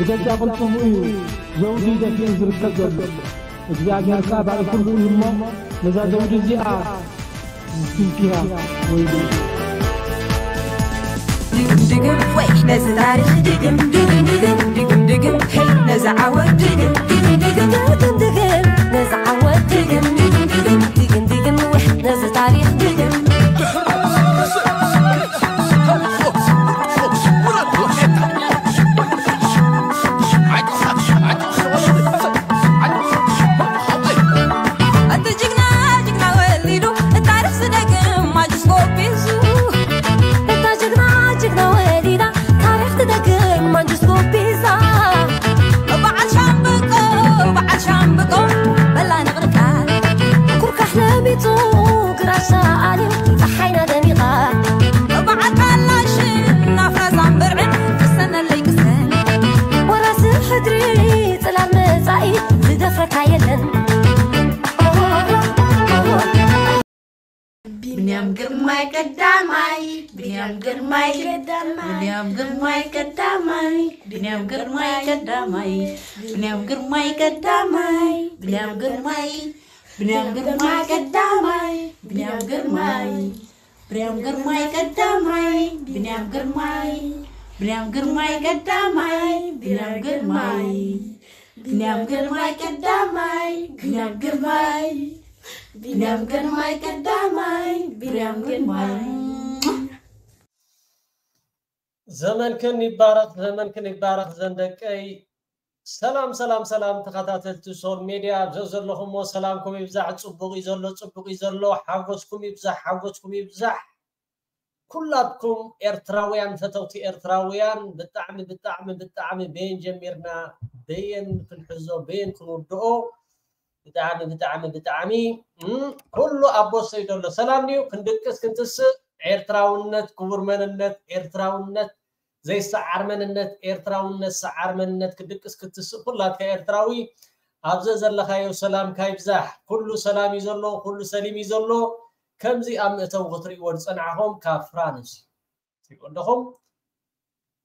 ደጃ ቅልጽሙ እዩ ዘውዲ ደፊኡ ዝርከብ ዘሎ። እግዚኣብሔር ከኣ ባዕሉ ፍርዱ እዩ እሞ፣ ነዛ ዘውዲ እዚኣ ዝትንክያ ወይሉ። ድግም ድግም ወይ ነዚ ታሪኽ ድግም ድግም ድግም ድግም ድግም ሄይ ነዚ ዓወት ድግም ድግም ድግም ድግም ድግም ነዚ ዓወት ድግም ድግም ድግም ድግም ድግም ወይ ነዚ ታሪኽ ድግም። እቲ ጅግና ጅግና ወሊዱ ታሪኽ ዝደግም ማጅስኮፕ ሒዙ። እታ ጅግና ጅግና ወሊዳ ታሪኽ ትደግም ማንጅስኮፕ ሒዛ። በዓል ሻምብቆ በዓል ሻምብቆ በላ ንቕርቃ። ኩርካሕ ለሚጹ ግራሽ ኣልዩ ጸሓይና ደሚቓ። በዓል ካላሽን ናፍራዛን ብርዕን ቅሰነለይ ቅሰን። ወራሲ ሕድሪ ጽላል መጻኢ ዝደፍረካ የለን። ብንያም ግርማይ ቀዳማይ፣ ብንያም ግርማይ ቀዳማይ፣ ብንያም ግርማይ ቀዳማይ፣ ብንያም ግርማይ ቀዳማይ፣ ብንያም ግርማይ ቀዳማይ፣ ብንያም ግርማይ፣ ብንያም ግርማይ ቀዳማይ፣ ብንያም ግርማይ፣ ብንያም ግርማይ ቀዳማይ፣ ብንያም ግርማይ፣ ብንያም ግርማይ ቀዳማይ፣ ብንያም ግርማይ፣ ብንያም ግርማይ ቀዳማይ፣ ብንያም ግርማይ፣ ብንያም ግርማይ ቀዳማይ፣ ብንያም ግርማይ። ዘመንክን ይባረኽ፣ ዘመንክን ይባረኽ ዘን ደቀይ። ሰላም ሰላም ሰላም ተኸታተልቲ ሶል ሜድያ ኣብ ዘለኹሞ ሰላምኩም ይብዛሕ። ጽቡቕ እዩ ዘሎ፣ ጽቡቕ እዩ ዘሎ። ሓጎስኩም ይብዛሕ፣ ሓጎስኩም ይብዛሕ። ኩላትኩም ኤርትራውያን፣ ፈተውቲ ኤርትራውያን ብጣዕሚ ብጣዕሚ ብጣዕሚ በየን ጀሚርና በየን ክንሕዞ በየን ክንውድኦ ብጣዕሚ ብጣዕሚ ብጣዕሚ እም፣ ኩሉ ኣብ ቦሰይ ዘሎ ሰላም ድዩ? ክንድቅስ ክንትስእ ኤርትራውነት ክቡር መንነት ኤርትራውነት ዘይሰዓር መንነት ኤርትራውነት ሰዓር መንነት ክድቅስ ክትስእ ኩላትካ ኤርትራዊ ኣብዚ ዘለኻዮ ሰላምካ ይብዛሕ። ኩሉ ሰላም እዩ ዘሎ፣ ኩሉ ሰሊም እዩ ዘሎ። ከምዚ ኣብ መእተዊ ክትርእይዎ ዝጸናሕኹም ካብ ፍራንስ ትሪእዎ ኣለኹም።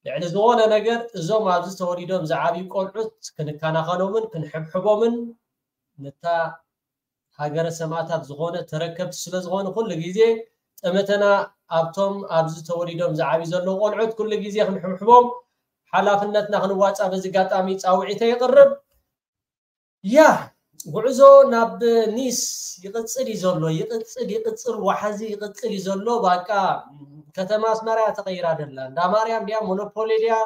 ልዕሊ ዝኾነ ነገር እዞም ኣብዚ ተወሊዶም ዝዓብዩ ቆልዑት ክንከናኸኖምን ክንሕብሕቦምን ነታ ሃገረ ሰማእታት ዝኾነ ተረከብቲ ስለ ዝኾኑ ኩሉ ግዜ ጠመተና ኣብቶም ኣብዚ ተወሊዶም ዝዓብዩ ዘለዉ ቆልዑት ኩሉ ግዜ ክንሕብሕቦም ሓላፍነትና ክንዋፃእ በዚ ኣጋጣሚ ፃውዒተ የቕርብ። ያ ጉዕዞ ናብ ኒስ ይቕጽል እዩ ዘሎ፣ ይቕጽል ይቕጽል፣ ዋሕዚ ይቕጽል እዩ ዘሎ። ባቃ ከተማ ኣስመራ እያ ተቐይራ ደላ። እንዳ ማርያም ድያ ሞኖፖሊ ድያ?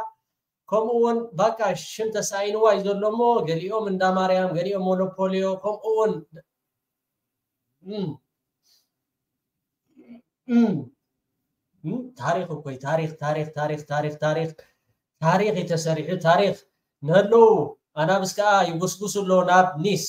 ከምኡ እውን ባቃ ሽም ተሳኢንዋ እዩ ዘሎ እሞ ገሊኦም እንዳ ማርያም፣ ገሊኦም ሞኖፖሊዮ፣ ከምኡ እውን እም፣ እም፣ እም፣ ታሪኽ እኮ እዩ። ታሪኽ ታሪኽ ታሪኽ ታሪኽ ታሪኽ ታሪኽ እዩ ተሰሪሑ። ታሪኽ ንህለው ኣናብስ ከዓ ይጉስጉሱ ኣለዉ ናብ ኒስ።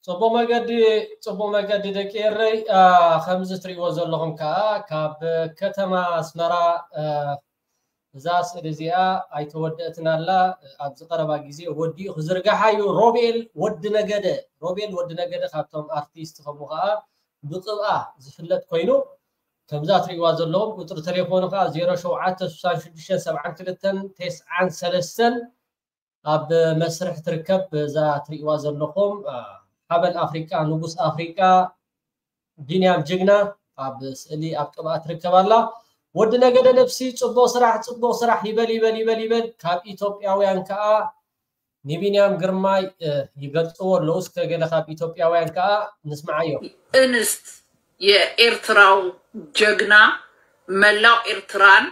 ጽቡቕ መገዲ፣ ጽቡቕ መገዲ ደቂ ኤረይ። አ፣ ከምዚ ትሪእዎ ዘለኹም ከኣ ካብ ከተማ ኣስመራ፣ አ፣ እዛ ስእሊ እዚኣ ኣይተወደእትን ኣላ። ኣብዚ ቀረባ ግዜ ወዲኡ ክዝርጋሓ እዩ። ሮቤል ወዲ ነገደ፣ ሮቤል ወዲ ነገደ ካብቶም ኣርቲስት ከምኡ ከኣ ብቅብኣ ዝፍለጥ ኮይኑ ከምዛ ትሪእዋ ዘለኹም ቁጽሪ ቴሌፎኑ ከኣ ዜሮ ሸውዓተ ስሳን ሽዱሽተን ሰብዓን ክልተን ተስዓን ሰለስተን ኣብ መስርሕ ትርከብ። እዛ ትሪእዋ ዘለኹም፣ አ፣ ሓበን ኣፍሪቃ፣ ንጉስ ኣፍሪቃ፣ ቢንያም ጅግና ኣብ ስእሊ ኣብ ቅብኣ ትርከብ ኣላ። ወዲ ነገደ ነፍሲ ጽቡቕ ስራሕ፣ ጽቡቕ ስራሕ ይበል፣ ይበል፣ ይበል፣ ይበል። ካብ ኢትዮጵያውያን ከኣ ንቢንያም ግርማይ፣ እ፣ ይገልጽዎ ኣለዉ። እስከ ገለ ካብ ኢትዮጵያውያን ከኣ ንስምዓዮ። እንስት የኤርትራው ጀግና፣ መላው ኤርትራን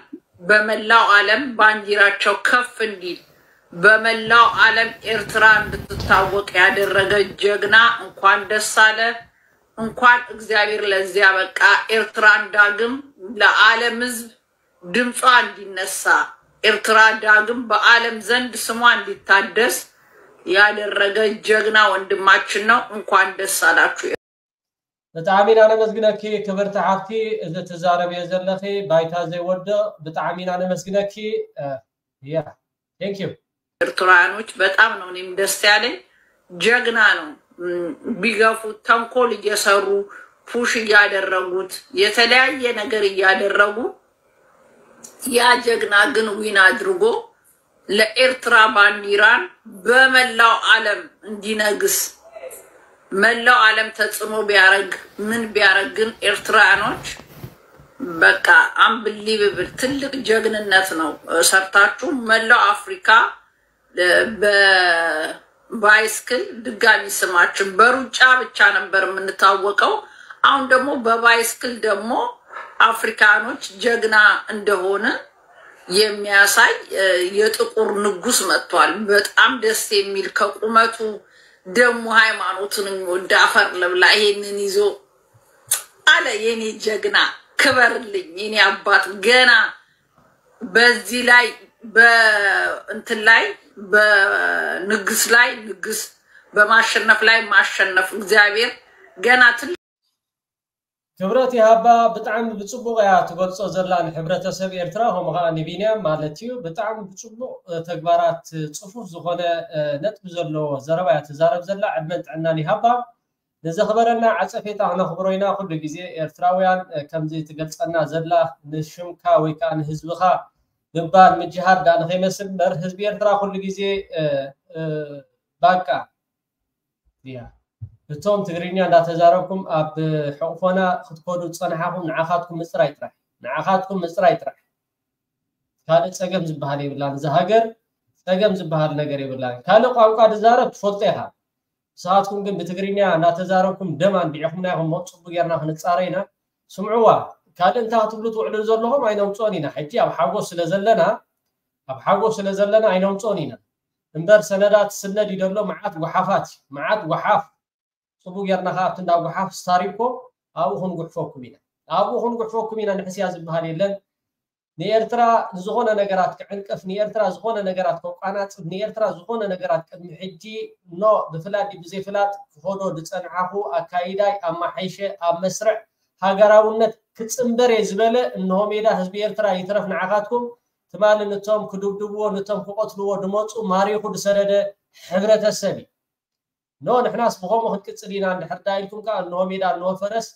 በመላው ዓለም ባንዲራቸው ከፍ እንዲል፣ በመላው ዓለም ኤርትራ እንድትታወቅ ያደረገ ጀግና፣ እንኳን ደስ አለ። እንኳን እግዚአብሔር ለዚያ በቃ። ኤርትራን ዳግም ለዓለም ህዝብ ድምጿ እንዲነሳ፣ ኤርትራ ዳግም በዓለም ዘንድ ስሟ እንዲታደስ ያደረገ ጀግና ወንድማችን ነው። እንኳን ደስ አላችሁ። ብጣዕሚ ኢና ነመስግነኪ ክብርቲ ሓፍቲ፣ እዚ ትዛረብዮ ዘለኺ ባይታ ዘይወድቕ። ብጣዕሚ ኢና ነመስግነኪ። እ፣ ያ፣ thank you። ኤርትራውያኖች በጣም ነው እኔም ደስ ያለኝ። ጀግና ነው። እም፣ ቢገፉት፣ ተንኮል እየሰሩ፣ ፑሽ እያደረጉት፣ የተለያየ ነገር እያደረጉ፣ ያ ጀግና ግን ዊን አድርጎ ለኤርትራ ባንዲራን በመላው ዓለም እንዲነግስ፣ መላው ዓለም ተጽዕኖ ቢያረግ፣ ምን ቢያረግ፣ ግን ኤርትራውያኖች በቃ አንብሊቨብል ትልቅ ጀግንነት ነው፣ እ፣ ሰርታችሁ። መላው አፍሪካ፣ እ፣ በባይስክል፣ ድጋሚ ስማችን በሩጫ ብቻ ነበር የምንታወቀው። አሁን ደግሞ በባይስክል ደግሞ አፍሪካኖች ጀግና እንደሆነ የሚያሳይ፣ እ፣ የጥቁር ንጉስ መጥቷል። በጣም ደስ የሚል፣ ከቁመቱ ደግሞ ሃይማኖቱን የሚወድ፣ አፈር ልብላ ይሄንን ይዞ አለ። የኔ ጀግና ክበርልኝ የኔ አባት። ገና በዚህ ላይ፣ በእንትን ላይ፣ በንግስ ላይ ንግስ፣ በማሸነፍ ላይ ማሸነፍ። እግዚአብሔር ገና ትልቅ ክብረት ይሃባ። ብጣዕሚ ብጽቡቕ እያ ትገልጾ ዘላ ንሕብረተሰብ ኤርትራ፣ ከምኡ ኸኣ ንቢንያም ማለት እዩ። ብጣዕሚ ብጽቡቕ፣ እ፣ ተግባራት፣ ጽፉፍ ዝኾነ፣ እ፣ ነጥቢ ዘለዎ ዘረባ እያ ትዛረብ ዘላ። ዕድመን ጥዕናን ይሃባ። ንዘኽበረና ዓጸፌታ ክነኽብሮ ኢና ኩሉ ግዜ። ኤርትራውያን፣ እ፣ ከምዚ ትገልጸና ዘላ ንሽምካ ወይ ከኣ ንህዝብኻ ምባል ምጅሃር ደኣ ንኸይመስል እምበር፣ ህዝቢ ኤርትራ ኩሉ ግዜ፣ እ፣ እ፣ ባቃ እያ። እቶም ትግርኛ እንዳተዛረብኩም ኣብ ሕቑፎና ክትከዱ ዝጸናሓኹም ንዓኻትኩም ምጽራይ ጥራሕ። ንዓኻትኩም ምጽራይ ጥራሕ። ካልእ ጸገም ዝበሃል የብላን። እዛ ሃገር ጸገም ዝበሃል ነገር የብላን። ካልእ ቋንቋ ዝዛረብ ትፈልጦ ኢኻ። ንስኻትኩም ግን ብትግርኛ እናተዛረብኩም ደም ኣንቢዕኹምና ኢኹም። እሞ ጽቡቕ ጌርና ክንጻረ ኢና። ስምዕዋ፣ ካልእ እንታይ ክትብሉ ትውዕሉ ዘለኹም ኣይነውጽኦን ኢና። ሕጂ ኣብ ሓጎስ ስለ ዘለና፣ ኣብ ሓጎስ ስለ ዘለና ኣይነውጽኦን ኢና። እምበር ሰነዳት ስነድ እዩ ዘሎ፣ መዓት ጓሓፋት እዩ፣ መዓት ጓሓፍ። ጽቡቕ ጌርና ከኣ ኣብቲ እንዳ ጓሓፍ ስታሪኮ ኣብኡ ክንጉሕፈኩም ኢና። ኣብኡ ክንጉሕፈኩም ኢና፣ ንሕስያ ዝበሃል የለን። ንኤርትራ ንዝኾነ ነገራት ክዕንቅፍ፣ ንኤርትራ ዝኾነ ነገራት ከቋናጽብ፣ ንኤርትራ ዝኾነ ነገራት ቅድሚ ሕጂ ኖ ብፍላጥ ድዩ ብዘይፍላጥ ክኸዶ ዝጸንሓኹ ኣካይዳይ ኣማሓይሸ ኣብ መስርዕ ሃገራውነት ክጽንበር እየ ዝበለ፣ እንሆ ሜዳ ህዝቢ ኤርትራ ይትረፍ ንዓኻትኩም፣ ትማሊ ነቶም ክድብድብዎ፣ ነቶም ክቐትልዎ ድመጹ ማሪኹ ድሰደደ ሕብረተሰብ እዩ። ኖ ንሕናስ ብኸምኡ ክንቅጽል ኢና እንድሕር ዳ ኢልኩም ከኣ እንሆ ሜዳ እንሆ ፈረስ፣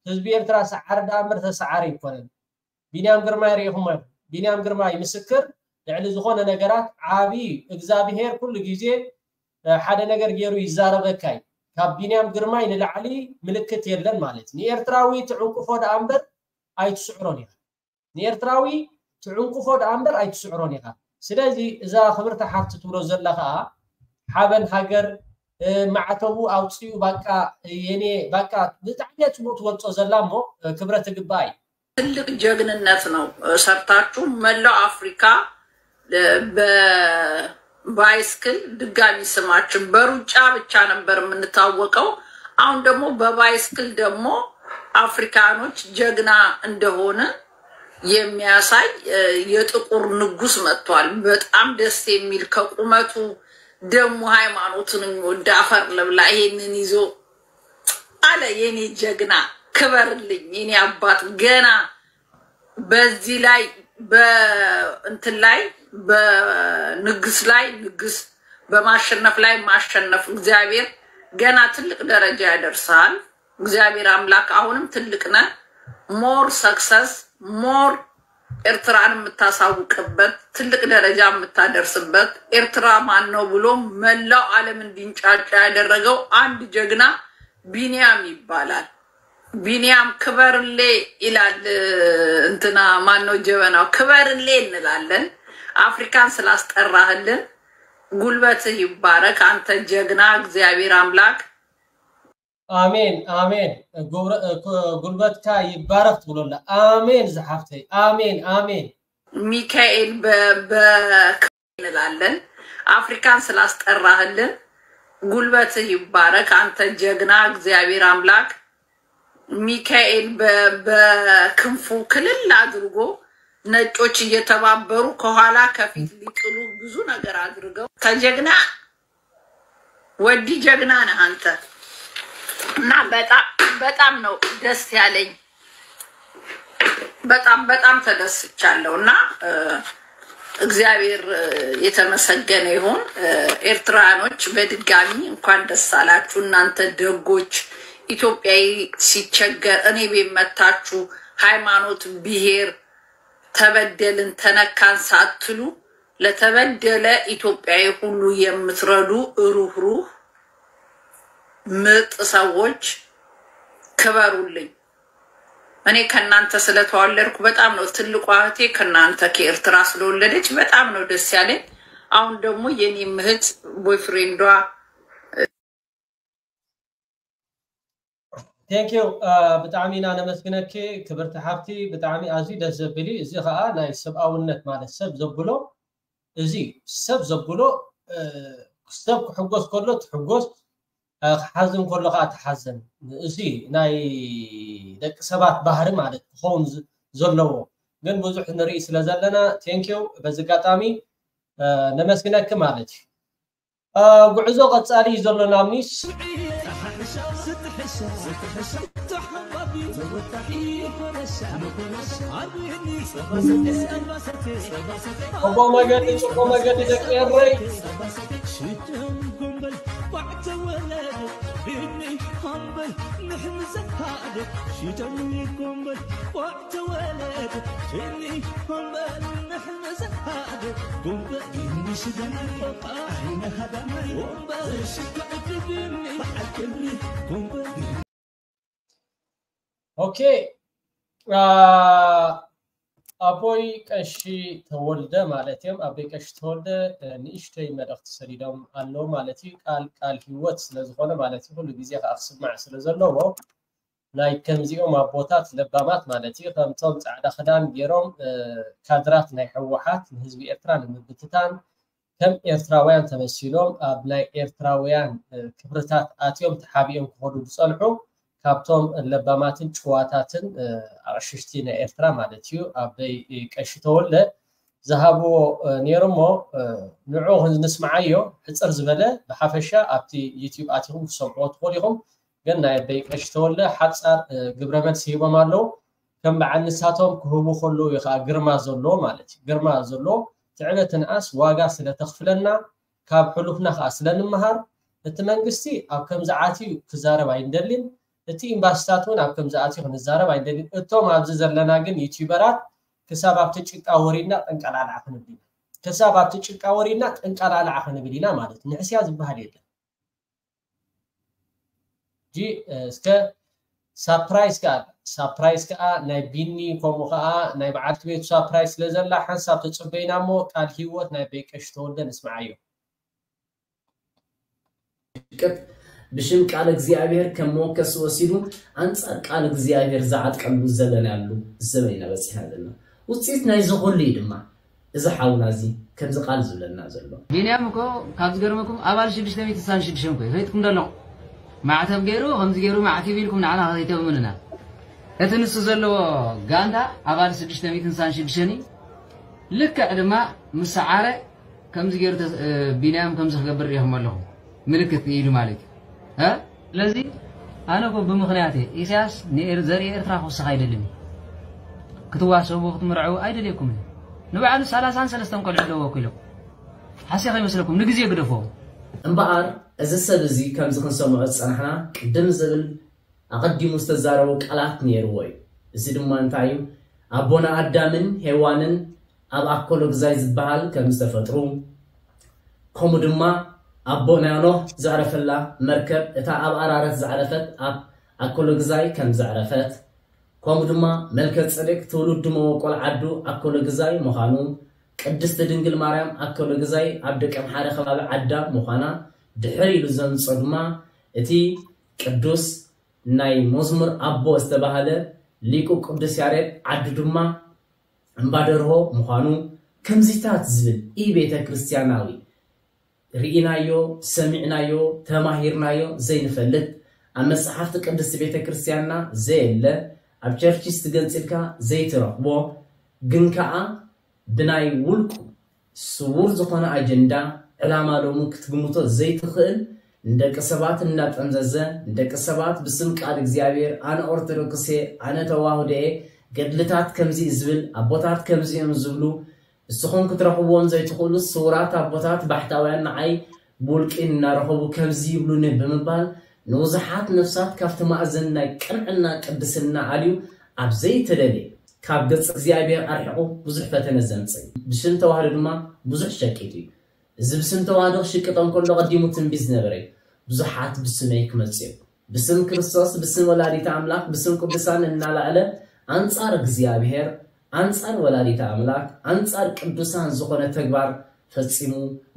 ህዝቢ ኤርትራ ሰዓሪ ደኣ እምበር ተሰዓሪ ኣይኮነን። ቢንያም ግርማይ ርኢኹሞ ኢኹም። ቢንያም ግርማይ ምስክር ልዕሊ ዝኾነ ነገራት ዓቢ እዩ። እግዚኣብሄር ኩሉ ግዜ፣ እ፣ ሓደ ነገር ገይሩ ይዛረበካ እዩ። ካብ ቢንያም ግርማይ ንላዕሊ ምልክት የለን ማለት እዩ። ንኤርትራዊ ትዕንቅፎ ደኣ እምበር ኣይትስዕሮን ኢኻ። ንኤርትራዊ ትዕንቅፎ ደኣ እምበር ኣይትስዕሮን ኢኻ። ስለዚ እዛ ክብርቲ ሓፍቲ ትብሎ ዘላ ከኣ ሓበን ሃገር፣ እ፣ ማዕተቡ ኣውጺኡ ባቃ፣ እ፣ የኔ ባቃ ብጣዕሚ እያ ጽቡቕ ትገልጾ ዘላ እሞ፣ እ፣ ክብረት ትግባእ እዩ። ትልቅ ጀግንነት ነው፣ እ፣ ሰርታችሁ መላው አፍሪካ፣ እ፣ በባይስክል ድጋሚ ስማችን በሩጫ ብቻ ነበር የምንታወቀው። አሁን ደግሞ በባይስክል ደግሞ አፍሪካኖች ጀግና እንደሆነ የሚያሳይ፣ እ፣ የጥቁር ንጉስ መጥቷል። በጣም ደስ የሚል፣ ከቁመቱ ደግሞ ሃይማኖቱን የሚወድ፣ አፈር ልብላ ይሄንን ይዞ አለ። የኔ ጀግና ክበርልኝ የኔ አባት። ገና በዚህ ላይ፣ በእንትን ላይ፣ በንግስ ላይ ንግስ፣ በማሸነፍ ላይ ማሸነፍ። እግዚአብሔር ገና ትልቅ ደረጃ ያደርሳል። እግዚአብሔር አምላክ አሁንም ትልቅ ነህ። ሞር ሰክሰስ፣ ሞር ኤርትራን የምታሳውቅበት፣ ትልቅ ደረጃ የምታደርስበት። ኤርትራ ማን ነው ብሎ መላው ዓለም እንዲንጫጫ ያደረገው አንድ ጀግና ቢንያም ይባላል። ቢንያም ክበርሌ ይላል። እንትና ማነው ጀበናው? ክበርሌ እንላለን። አፍሪካን ስላስጠራህልን ጉልበትህ ይባረክ አንተ ጀግና። እግዚአብሔር አምላክ አሜን አሜን። ጉብረ- እ፣ ጉ- ጉልበትካ ይባረክ ትብሎ ኣላ። ኣሜን ዝሓፍተይ፣ ኣሜን ኣሜን። ሚካኤል በ- በ- እንላለን። አፍሪካን ስላስጠራህልን ጉልበትህ ይባረክ አንተ ጀግና። እግዚአብሔር አምላክ ሚካኤል በ- በክንፉ ክልል አድርጎ ነጮች እየተባበሩ ከኋላ ከፊት ሊጥሉ ብዙ ነገር አድርገው ተጀግና ወዲ ጀግና ነህ አንተ። እና በጣም በጣም ነው ደስ ያለኝ። በጣም በጣም ተደስቻለሁ። እና እ፣ እግዚአብሔር እ፣ የተመሰገነ ይሁን። እ፣ ኤርትራኖች በድጋሚ እንኳን ደስ አላችሁ እናንተ ደጎች። ኢትዮጵያዊ ሲቸገር እኔ ቤት መታችሁ ሃይማኖት፣ ብሔር፣ ተበደልን ተነካን ሳትሉ ለተበደለ ኢትዮጵያዊ ሁሉ የምትረዱ ሩህሩህ ምርጥ ሰዎች ክበሩልኝ። እኔ ከእናንተ ስለተዋለድኩ በጣም ነው። ትልቋ እህቴ ከእናንተ ከኤርትራ ስለወለደች በጣም ነው ደስ ያለኝ። አሁን ደግሞ የኔም እህት ቦይፍሬንዷ Thank you። ብጣዕሚ ኢና ነመስግነኪ ክብርቲ ሓፍቲ። ብጣዕሚ ኣዝዩ ደስ ዘብል እዩ። እዚ ከዓ ናይ ሰብኣውነት ማለት ሰብ ዘብሎ፣ እዚ ሰብ ዘብሎ፣ እ፣ ሰብ ክሕጎስ ከሎ ትሕጎስ፣ እ፣ ክሓዝን ከሎ ከዓ ትሓዘን። እዚ ናይ ደቂ ሰባት ባህሪ ማለት ክኸውን ዝ- ዘለዎ፣ ግን ብዙሕ ንርኢ ስለ ዘለና፣ thank you። በዚ ኣጋጣሚ እ፣ ነመስግነኪ ማለት እዩ። እ፣ ጉዕዞ ቀፃሊ እዩ ዘሎ ናብ ኒስ። ጽቡቕ መገዲ፣ ጽቡቕ መገዲ ደቂ ኤረይ። ኦኬ፣ አ፣ ኣቦይ ቀሺ ተወልደ ማለት እዮም። ኣቦይ ቀሺ ተወልደ፣ እ፣ ንእሽተይ መልእኽቲ ሰዲዶም ኣለዉ ማለት እዩ። ቃል ቃል ህይወት ስለ ዝኾነ ማለት እዩ፣ ኩሉ ግዜ ከዓ ክስማዕ ስለ ዘለዎ ናይ ከምዚኦም ኣቦታት ለባማት ማለት እዩ፣ ከምቶም ጻዕዳ ክዳን ገይሮም፣ እ፣ ካድራት ናይ ህወሓት ንህዝቢ ኤርትራ ንምብትታን ከም ኤርትራውያን ተመሲሎም ኣብ ናይ ኤርትራውያን፣ እ፣ ክብርታት ኣትዮም ተሓቢኦም ክኸዱ ዝጸንሑ ካብቶም ለባማትን ጭዋታትን፣ እ፣ ኣቕሽሽቲ ናይ ኤርትራ ማለት እዩ። ኣበይ ቀሺ ተወልደ ዝሃብዎ፣ እ፣ ነይሩ እሞ፣ እ፣ ንዑ ንስምዓዮ። ሕጽር ዝበለ ብሓፈሻ ኣብቲ ዩቲዩብ ኣቲኹም ክሰምዕዎ ትኽእሉ ኢኹም። ግን ናይ ኣበይ ቀሺ ተወልደ ሓጻር፣ እ፣ ግብረ መልሲ ሂቦም ኣለዉ። ከም በዓል ንሳቶም ክህቡ ከለዉ እዩ ከዓ ግርማ ዘለዎ ማለት እዩ። ግርማ ዘለዎ ትዕበትንኣስ ዋጋ ስለ ተኽፍለና ካብ ሕሉፍና ከዓ ስለ ንምሃር እቲ መንግስቲ ኣብ ከምዚ ዓትዩ ክዛረብ ኣይንደልን። እቲ ኤምባሲታት እውን ኣብ ከምዚ ኣትዩ ክንዛረብ ኣይንደልን። እቶም ኣብዚ ዘለና ግን ዩቲዩበራት ክሳብ ኣብቲ ጭቃ ወሪድና ጠንቀላልዓ ክንብል ኢና። ክሳብ ኣብቲ ጭቃ ወሪድና ጠንቀላልዓ ክንብል ኢና ማለት እዩ። ንሕስያ ዝበሃል የለን። ጂ እስከ ሳፕራይዝ ከዓ ሳፕራይዝ ከዓ ናይ ቢኒ ከምኡ ከዓ ናይ በዓልቲ ቤቱ ሳፕራይዝ ስለ ዘላ ሓንሳብ ተፅበይና እሞ ቃል ህይወት ናይ በይቀሽ ተወልደ ንስምዓዮ። ቅጥ ብሽም ቃል እግዚኣብሔር ከም መወከሲ ወሲዱ ኣንጻር ቃል እግዚኣብሔር ዝዓጥቀሉ ዘለናሉ ዘበን ኢና በጺሕና ዘለና። ውፅኢት ናይዚ ኩሉ እዩ ድማ እዚ ሓውና እዚ ከምዚ ቃል ዝብለና ዘሎ። ቢንያም እኮ ካብ ዝገርመኩም ኣባል ሽዱሽተ ሚእቲ ስሳን ሽዱሽተን እኮ እዩ። ፈይጥኩም ደለኹም። ማዕተብ ገይሩ ከምዚ ገይሩ ማዕቲብ ኢልኩም ንዓና ከይተእምኑና። እቲ ንሱ ዘለዎ ጋንታ ኣባል ሽዱሽተ ሚእቲ ስሳን ሽዱሽተን እዩ። ልክዕ ድማ ምስ ሰዓረ ከምዚ ገይሩ ተስ- እ፣ ቢንያም ከምዚ ክገብር ሪኢኹም ኣለኹም። ምልክት ኢሉ ማለት እዩ። እ? ስለዚ ኣነ እኮ ብምኽንያት እየ። ኢሳያስ ንኤር- ዘርኢ ኤርትራ ክውስኽ ኣይደልን እዩ። ክትዋሰቡ ክትምርዐው ኣይደልየኩምን እዩ። ንባዕሉ ሰላሳን ሰለስተን ቆልዑ ኣለዎ እኮ ኢሎም። ሓስያ ከይመስለኩም ንግዜ ግደፎ። እምበኣር እዚ ሰብ እዚ ከምዚ ክንሰምዖ ዝጸናሕና ቅድም ዝብል ኣቐዲሙ ዝተዛረቦ ቃላት ነይርዎ እዩ። እዚ ድማ እንታይ እዩ? ኣቦና ኣዳምን ሄዋንን ኣብ ኣኮሎግዛይ ዝበሃል ከም ዝተፈጥሩ፣ ከምኡ ድማ ኣቦና ኖህ ዘዕረፈላ መርከብ፣ እታ ኣብ ኣራረት ዝዓረፈት ኣብ ኣኮሎግዛይ ከም ዘዕረፈት፣ ከምኡ ድማ መልከ ጸዴቅ ትውልዱ መበቆል ዓዱ ኣኮሎግዛይ ምዃኑ፣ ቅድስቲ ድንግል ማርያም ኣኮሎግዛይ ኣብ ደቀምሓረ ከባቢ ዓዳ ምዃና፣ ድሕር ኢሉ ዘምጾ ድማ እቲ ቅዱስ ናይ መዝሙር ኣቦ ዝተባህለ ሊቁ ቅዱስ ያሬድ ዓዱ ድማ እምባደርሆ ምዃኑ፣ ከምዚታት ዝብል ኢ ቤተ ክርስቲያናዊ ርኢናዮ፣ ሰሚዕናዮ፣ ተማሂርናዮ ዘይንፈልጥ፣ ኣብ መጽሓፍቲ ቅድስቲ ቤተ ክርስቲያንና ዘየለ፣ ኣብ ቸርችስ ትገንጽልካ ዘይትረኽቦ፣ ግን ከኣ ብናይ ውልቁ ስዉር ዝኾነ ኣጀንዳ፣ ዕላማ ሎሚ ክትግምቶ ዘይትኽእል፣ ንደቂ ሰባት እናጠምዘዘ፣ ንደቂ ሰባት ብስም ቃል እግዚኣብሔር፣ ኣነ ኦርቶዶክስ እየ፣ ኣነ ተዋህዶ እየ፣ ገድልታት ከምዚ እዩ ዝብል፣ ኣቦታት ከምዚ እዮም ዝብሉ፣ ንስኹም ክትረኽብዎም ዘይትኽእሉ ስውራት ኣቦታት ባሕታውያን ንዓይ ብውልቂ እናረኸቡ ከምዚ ይብሉኒ ብምባል ንብዙሓት ነፍሳት ካብቲ ማእዝን ናይ ቅንዕና ቅድስና ኣልዩ ኣብ ዘይተደልየ ካብ ገጽ እግዚኣብሔር ኣርሒቑ ብዙሕ ፈተነ ዘምጽእ እዩ። ብሽም ተዋህዶ ድማ ብዙሕ ሸቂጡ እዩ። እዚ ብስም ተዋህዶ ክሽቅጦም ከሎ ቀዲሙ ትንቢት ዝነበረ እዩ። ብዙሓት ብስመይ ክመጹ እዮም። ብስም ክርስቶስ፣ ብስም ወላዲተ ኣምላኽ፣ ብስም ቅዱሳን እናላዕለ ኣንጻር እግዚኣብሔር፣ ኣንጻር ወላዲተ ኣምላኽ፣ ኣንጻር ቅዱሳን ዝኾነ ተግባር ፈጺሙ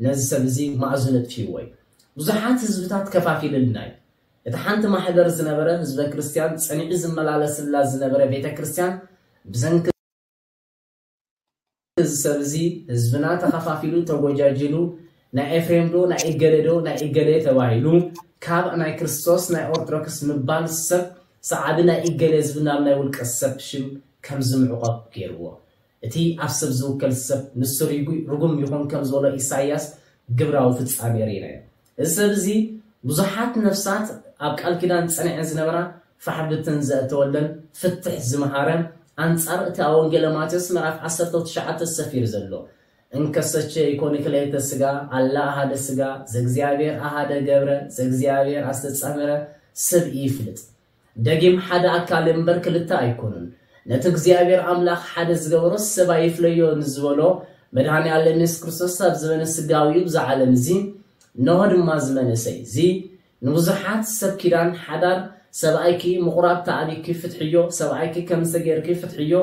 ነዚ ሰብ እዚ ማእዝኑ ኣጥፊእዎ እዩ። ብዙሓት ህዝብታት ከፋፊልልና እዩ። እቲ ሓንቲ ማሕበር ዝነበረ ህዝበ ክርስቲያን ጸኒዑ ዝመላለስላ ዝነበረ ቤተ ክርስቲያን ብሰንኪ እዚ ሰብ እዚ ህዝብና ተኸፋፊሉ ተጎጃጅሉ ናይ ኤፍሬም ዶ ናይ እገሌ ዶ ናይ እገሌ ተባሂሉ ካብ ናይ ክርስቶስ ናይ ኦርቶዶክስ ምባል ሰብ ሰዓቢ ናይ እገሌ ዝብል ናብ ናይ ውልቀ ሰብ ሽም ከም ዝምዕቆብ ገይርዎ። እቲ ኣብ ሰብ ዝውከል ሰብ ንሱ ርጉ- ርጉም ይኹን ከም ዝበሎ ኢሳይያስ ግብራዊ ፍጻሜ ርኢናዮ። እዚ ሰብ እዚ ብዙሓት ነፍሳት ኣብ ቃል ኪዳን ጸኒዐን ዝነበራ ፋሕ ብትን ዘእተወለን ፍትሕ ዝመሃረ ኣንጻር እቲ ኣብ ወንጌለ ማቴዎስ ምዕራፍ ዓሰርተ ትሽዓተ ሰፊሩ ዘሎ እንከሰቸ ይኮን ክልኤተ ስጋ ኣላ ኣሃደ ስጋ ዘእግዚኣብሔር ኣሃደ ገብረ ዘእግዚኣብሔር ኣስተጻመረ ሰብ ይፍልጥ ደጊም ሓደ ኣካል እምበር ክልተ ኣይኮኑን ነቲ እግዚኣብሔር ኣምላኽ ሓደ ዝገበሮ ሰብ ኣይፍለዮ ንዝበሎ መድሃኒ ኣለም የሱስ ክርስቶስ ኣብ ዘበነ ስጋዊኡ ብዛ ዓለም እዚ እነሆ ድማ እዚ መንእሰይ እዚ ንብዙሓት ሰብ ኪዳን ሓዳር ሰብኣይኪ ምቑራብ ተኣቢኪ ፍትሕዮ ሰብኣይኪ ከምዚ ጌርኪ ፍትሕዮ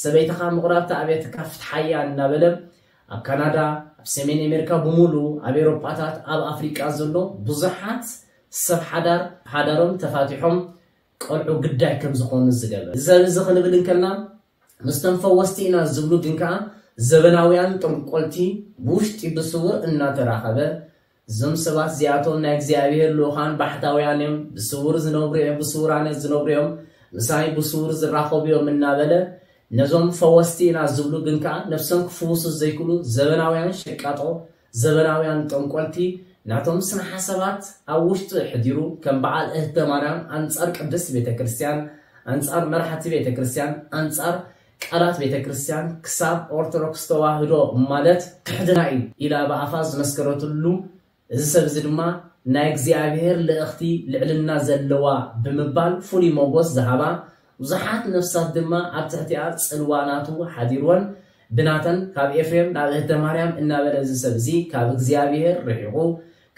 ሰበይትኻ ምቑራብ ተኣብየትካ ፍትሓያ እናበለ ኣብ ካናዳ ኣብ ሰሜን ኣሜሪካ ብምሉ ኣብ ኤውሮጳታት ኣብ ኣፍሪቃ ዘሎ ብዙሓት ሰብ ሓዳር ሓዳሮም ተፋቲሖም ቆልዑ ግዳይ ከም ዝኾኑ ዝገበረ እዚ እዚ ክንብል እንከልና ምስቶም ፈወስቲ ኢና ዝብሉ ግን ከኣ ዘበናውያን ጠንቆልቲ ብውሽጢ ብስውር እናተራኸበ እዞም ሰባት እዚኣቶም ናይ እግዚኣብሔር ልኡኻን ባሕታውያን እዮም፣ ብስውር ዝነብሩ እዮም፣ ብስውራነት ዝነብሩ እዮም፣ ምሳይ ብስውር ዝራኸቡ እዮም እናበለ ነዞም ፈወስቲ ኢና ዝብሉ ግን ከኣ ነብሶም ክፍውሱ ዘይክእሉ ዘበናውያን ሸቃጦ፣ ዘበናውያን ጠንቆልቲ ናቶም ስነ ሓሳባት ኣብ ውሽጡ ኣሕዲሩ ከም በዓል እህተ ማርያም ኣንጻር ቅድስት ቤተ ክርስቲያን፣ ኣንጻር መራሕቲ ቤተ ክርስቲያን፣ ኣንጻር ቃላት ቤተ ክርስቲያን ክሳብ ኦርቶዶክስ ተዋህዶ ማለት ክሕድና እዩ ኢላ ብኣፋ ዝመስከረትሉ እዚ ሰብ እዚ ድማ ናይ እግዚኣብሔር ልእኽቲ ልዕልና ዘለዋ ብምባል ፍሉይ ሞጎስ ዝሃባ ብዙሓት ነፍሳት ድማ ኣብ ትሕቲኣ ጽልዋ ናቱ ሓዲርወን ብናተን ካብ ኤፍሬም ናብ እህተ ማርያም እናበለ እዚ ሰብ እዚ ካብ እግዚኣብሔር ርሒቑ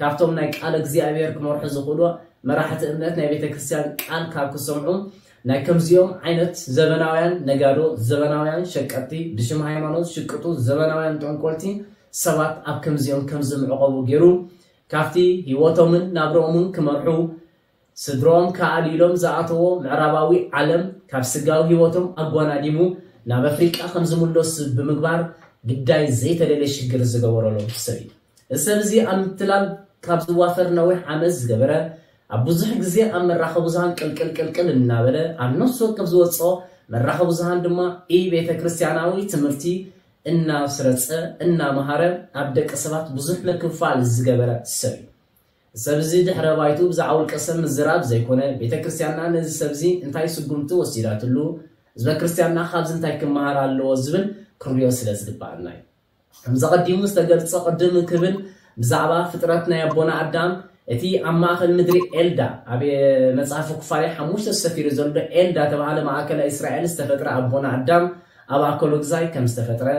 ካብቶም ናይ ቃል እግዚኣብሔር ክመርሑ ዝኽእሉ መራሕቲ እምነት ናይ ቤተ ክርስቲያን ቃል ካብ ክሰምዑ ናይ ከምዚኦም ዓይነት ዘበናውያን ነጋዶ ዘበናውያን ሸቀጥቲ ብሽም ሃይማኖት ሽቅጡ ዘበናውያን ጠንቆልቲ ሰባት ኣብ ከምዚኦም ከም ዝምዕቐቡ ገይሩ ካብቲ ህይወቶምን ናብርኦምን ክመርሑ ስድሮም ከኣልይሎም ዝኣተዎ ምዕራባዊ ዓለም ካብ ስጋዊ ህይወቶም ኣጓናዲሙ ናብ ኣፍሪቃ ከም ዝምለሱ ብምግባር ግዳይ ዘይተደልየ ሽግር ዝገበረሎም ሰብ እዩ። እዚ ሰብ እዚ ኣብ ምትላል ካብ ዝዋፈር ነዊሕ ዓመት ዝገበረ ኣብ ብዙሕ ግዜ ኣብ መራኸቢ ብዙሃን ቅልቅል ቅልቅል እናበለ ኣብ ነፍሲ ወከፍ ዝወፅኦ መራኸቢ ብዙሃን ድማ ኢ ቤተ ክርስቲያናዊ ትምህርቲ እናስረፀ እናመሃረ ኣብ ደቂ ሰባት ብዙሕ ምክፍፋል ዝገበረ ሰብ እዩ። ሰብ እዚ ድሕረ ባይቱ ብዛዕባ ውልቀ ሰብ ምዝራብ ዘይኮነ ቤተ ክርስቲያንና ነዚ ሰብ እዚ እንታይ ስጉምቲ ወሲዳትሉ ህዝበ ክርስቲያንና ካብዚ እንታይ ክመሃር ኣለዎ ዝብል ክንሪኦ ስለ ዝግባኣና እዩ። ከምዚ ቀዲሙ ዝተገልጸ ቅድም ክብል ብዛዕባ ፍጥረት ናይ ኣቦና ኣዳም እቲ ኣብ ማእከል ምድሪ ኤልዳ ኣብ መጽሓፍ ኩፋሌ ሓሙሽተ ሰፊሩ ዘሎ ኤልዳ ተባሃለ ማእከል እስራኤል ዝተፈጥረ ኣቦና ኣዳም ኣብ ኣከሎ ግዛይ ከም ዝተፈጥረ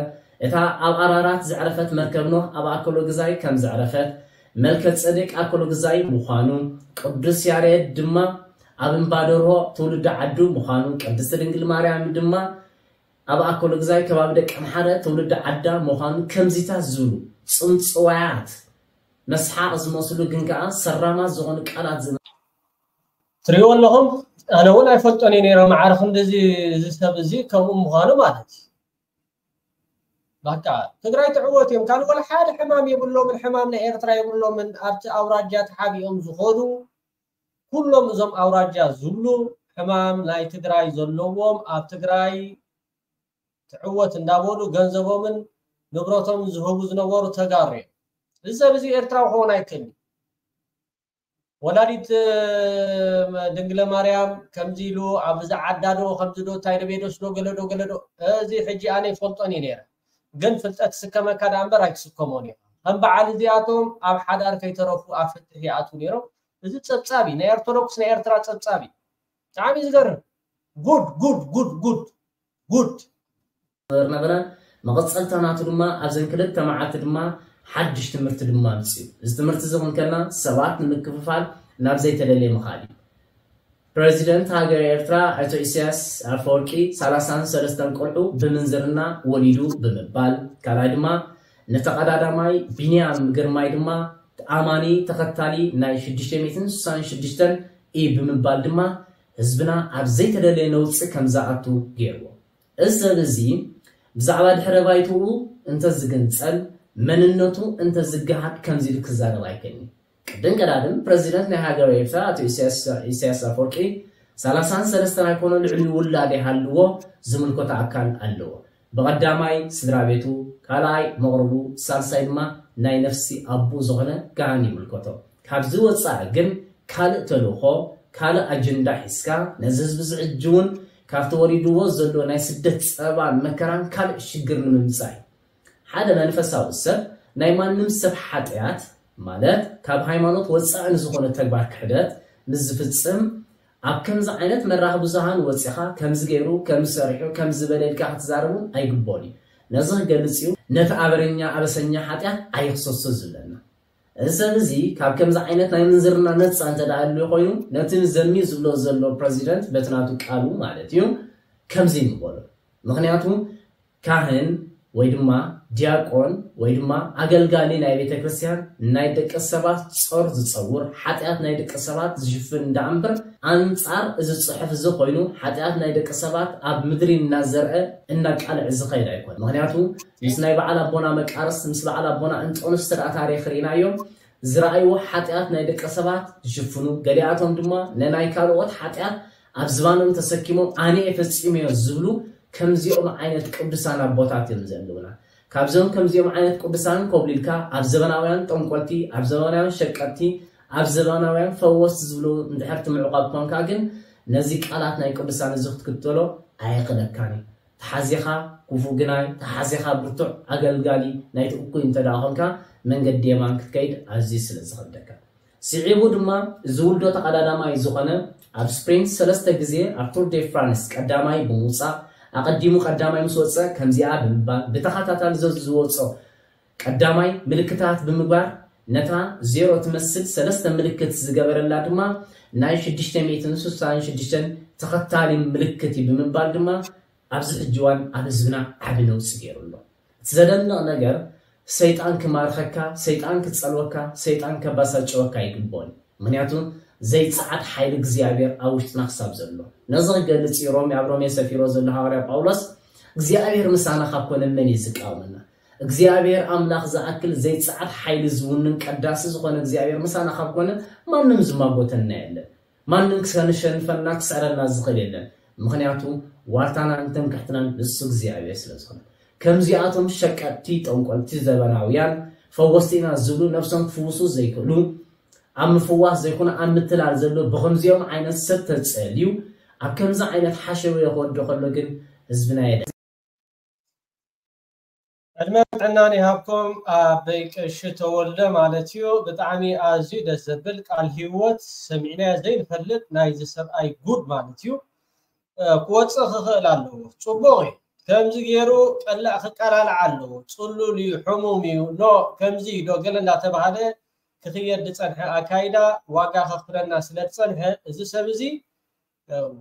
እታ ኣብ ኣራራት ዘዕረፈት መርከብ ኖህ ኣብ ኣከሎ ግዛይ ከም ዘዕረፈት መልከ ጸዴቅ ኣከሎ ግዛይ ምዃኑ ቅዱስ ያሬድ ድማ ኣብ እምባ ደርሆ ትውልዲ ዓዱ ምዃኑ፣ ቅድስቲ ድንግል ማርያም ድማ ኣብ ኣኮለግዛይ ከባቢ ደቂ ኣምሓረ ትውልዲ ዓዳ ምዃኑ ከምዚታት ዝብሉ ጽምጽዋያት መስሓቕ ዝመስሉ ግን ከኣ ሰራማት ዝኾኑ ቃላት ዝመ- ትሪእዎ ኣለኹም። ኣነ እውን ኣይፈልጦን እየ ነይረ፣ ማዕረ ክንድዚ እዚ ሰብ እዚ ከምኡ ምዃኑ ማለት እዩ። በቃ ትግራይ ትዕወት እዮም። ካልእ ወላ ሓደ ሕማም የብሎምን፣ ሕማም ናይ ኤርትራ የብሎምን። ኣብቲ ኣውራጃ ተሓቢኦም ዝኾኑ ኩሎም እዞም ኣውራጃ ዝብሉ ሕማም ናይ ትግራይ ዘለዎም ኣብ ትግራይ ትዕወት እንዳበሉ ገንዘቦምን ንብረቶም ዝህቡ ዝነበሩ ተጋሩ እዮም። እዚ ሰብ እዚ ኤርትራዊ ክኸውን ኣይክእልን። ወላዲት ድንግለ ማርያም ከምዚ ኢሉ ኣብዚ ዓዳዶ ከምዚ ዶ እንታይ ዶ ቤዶስ ዶ ገለዶ ገለዶ እዚ ሕጂ ኣነ ይፈልጦን እዩ ነይረ። ግን ፍልጠት ትስከመካ ደኣ እምበር ኣይትስከሞን እዩ። ከም በዓል እዚኣቶም ኣብ ሓዳር ከይተረፉ ኣብ ፍትሕ ይኣትዉ ነይሮም። እዚ ጸብጻብ እዩ። ናይ ኦርቶዶክስ ናይ ኤርትራ ጸብጻብ እዩ። ብጣዕሚ ዝገርም። ጉድ ጉድ ጉድ ጉድ ጉድ። ነበረ። መቐጸልታ ናቱ ድማ ኣብዘን ክልተ መዓልቲ ድማ ሓድሽ ትምህርቲ ድማ ኣምጽኡ። እዚ ትምህርቲ እዚ ክንከና ሰባት ንምክፍፋል ናብ ዘይተደለየ ምኻድ እዩ። ፕረዚደንት ሃገር ኤርትራ ኣቶ ኢሳያስ ኣፈወርቂ ሰላሳን ሰለስተን ቆልዑ ብምንዝርና ወሊዱ ብምባል፣ ካልኣይ ድማ ንተቐዳዳማይ ቢንያም ግርማይ ድማ ኣማኒ ተኸታሊ ናይ ሽዱሽተ ሚእትን ስሳን ሽዱሽተን እዩ ብምባል ድማ ህዝብና ኣብ ዘይተደለየ ነውጺ ከም ዝኣቱ ገይርዎ። እዚ ሰብ እዚ ብዛዕባ ድሕረ ባይትኡ እንተዝግንጸል፣ መንነቱ እንተዝገሃድ ከምዚ ኢሉ ክዛረብ ኣይክእልን እዩ። ቅድም ቀዳድም ፕረዚደንት ናይ ሃገር ኤርትራ ኣቶ ኢሳያስ ኣፈወርቂ ሰላሳን ሰለስተን ኣይኮነ ልዕሊ ውላድ ይሃልዎ ዝምልከቶ ኣካል ኣለዎ። ብቐዳማይ ስድራ ቤቱ፣ ካልኣይ መቕርቡ፣ ሳልሳይ ድማ ናይ ነፍሲ ኣቦ ዝኾነ ካህን ይምልከቶ። ካብዚ ወፃኢ ግን ካልእ ተልእኾ፣ ካልእ ኣጀንዳ ሒዝካ ነዚ ህዝቢ እዚ ሕጂ እውን ካብቲ ወሪድዎ ዘሎ ናይ ስደት ፀበባን መከራን ካልእ ሽግር ንምምፃእ እዩ። ሓደ መንፈሳዊ ሰብ ናይ ማንም ሰብ ሓጢኣት ማለት ካብ ሃይማኖት ወፃኢ ንዝኾነ ተግባር ክሕደት ምስ ዝፍፅም ኣብ ከምዚ ዓይነት መራኸቢ ብዙሃን ወፂኻ ከምዚ ገይሩ፣ ከምዚ ሰሪሑ፣ ከምዚ በለ ኢልካ ክትዛረቡ ኣይግቦን እዩ። ነዚ ክገልፅ እዩ ነቲ ኣበረኛ ኣበሰኛ ሓጢኣት ኣይኽሰሶ ዝብለና። እዚ ሰብ እዚ ካብ ከምዚ ዓይነት ናይ ምንዝርና ነፃ እንተ ደኣ ኣልዩ ኮይኑ ነቲ ዘሚ ዝብሎ ዘሎ ፕረዚደንት በቲ ናቱ ቃሉ ማለት እዩ ከምዚ ንበሎ። ምክንያቱ ካህን ወይ ድማ ዲያቆን ወይ ድማ ኣገልጋሊ ናይ ቤተ ክርስቲያን ናይ ደቂ ሰባት ጾር ዝጸውር ሓጢኣት ናይ ደቂ ሰባት ዝሽፍን እንዳኣምበር ኣንጻር እዚ ጽሑፍ እዚ ኮይኑ ሓጢኣት ናይ ደቂ ሰባት ኣብ ምድሪ እናዘርአ እናቃልዕ ዝኸይድ ኣይኮን። ምክንያቱ ምስ ናይ በዓል ኣቦና መቃርስ ምስ በዓል ኣቦና እንጦንስ ስርዓ ታሪክ ርኢናዮ ዝረኣይዎ ሓጢኣት ናይ ደቂ ሰባት ዝሽፍኑ ገሊኣቶም ድማ ንናይ ካልኦት ሓጢኣት ኣብ ዝባኖም ተሰኪሞም ኣነ እየ ፈጺመዮ ዝብሉ ከምዚኦም ዓይነት ቅዱሳን ኣቦታት እዮም ዘለውና። ካብዞም ከምዚኦም ዓይነት ቅዱሳን ኮብሊልካ ኣብ ዘበናውያን ጠንቆልቲ፣ ኣብ ዘበናውያን ሸቀጥቲ፣ ኣብ ዘበናውያን ፈወስቲ ዝብሉ እንድሕር ትምዕቋብ ኮንካ ግን ነዚ ቃላት ናይ ቅዱሳን እዚ ክትክተሎ ኣየኽለካን እዩ። ተሓዚኻ ክፉእ ግናይ፣ ተሓዚኻ ብርቱዕ ኣገልጋሊ ናይቲ እኩይ እንተ ደኣ ኾንካ መንገዲ የማን ክትከይድ ኣዝዩ ስለ ዝኸብደካ። ስዒቡ ድማ እዚ ውልዶ ተቐዳዳማይ ዝኾነ ኣብ ስፕሪንት ሰለስተ ግዜ ኣብ ቱር ዴ ፍራንስ ቀዳማይ ብምውፃእ ኣቐዲሙ ቀዳማይ ምስ ወፀ ከምዚኣ ብምባል ብተኸታታሊ ዘዝወፆ ቀዳማይ ምልክታት ብምግባር ነታ ዜሮ ትመስል ሰለስተ ምልክት ዝገበረላ ድማ ናይ ሽዱሽተ ሚእትን ስሳን ሽዱሽተን ተኸታሊ ምልክት እዩ ብምባል ድማ ኣብዚ ሕጂ እዋን ኣብ ህዝብና ዓቢ ነውፂ ገይሩ ኣሎ። እቲ ዘደንቕ ነገር ሰይጣን ክማርኸካ፣ ሰይጣን ክጸልወካ፣ ሰይጣን ከባሳጭወካ ኣይግቦን። ምክንያቱ ዘይጸዓድ ሓይሊ እግዚኣብሔር ኣብ ውሽጥና ክሳብ ዘሎ። ነዚ ክገልጽ እዩ ሮሜ ኣብ ሮሜ ሰፊሮ ዘሎ ሃዋርያ ጳውሎስ እግዚኣብሔር ምሳና ካብ ኮነ መን እዩ ዝቃወመና? እግዚኣብሔር ኣምላኽ ዝኣክል ዘይጸዓድ ሓይሊ ዝውንን ቀዳሲ ዝኾነ እግዚኣብሔር ምሳና ካብ ኮነ ማንም ዝማጎተና የለን። ማንም ክሰንሸንፈና ክስዕረና ዝኽእል የለን። ምኽንያቱ ዋልታናን ትምክሕትናን ንሱ እግዚኣብሔር ስለ ዝኾነ። ከምዚኣቶም ሸቀጥቲ ጠንቆልቲ ዘበናውያን ፈወስቲ ኢና ዝብሉ ነብሶም ክፍውሱ ዘይክእሉ ኣብ ምፍዋስ ዘይኮነ ኣብ ምትላል ዘሎ ብኸምዚኦም ዓይነት ሰብ ተጸልዩ ኣብ ከምዚ ዓይነት ሓሸውየ ክወዶ ከሎ ግን ህዝብና የደ ዕድመን ጥዕናን ይሃብኩም ኣቦይ ቀሺ ተወልደ ማለት እዩ። ብጣዕሚ ኣዝዩ ደስ ዘብል ቃል ህይወት ሰሚዕናዮ ዘይንፈልጥ ናይዚ ሰብኣይ ጉድ ማለት እዩ። ክወፅእ ክኽእል ኣለዎ። ፅቡቕ እዩ። ከምዚ ገይሩ ቀላእ ክቀላልዓ ኣለዎ። ፅሉል እዩ፣ ሕሙም እዩ፣ ኖ ከምዚ እዩ ዶ ገለ እንዳተባሃለ ክኽየድ ዝፀንሐ ኣካይዳ ዋጋ ከኽፍለና ስለ ዝፀንሐ እዚ ሰብ እዚ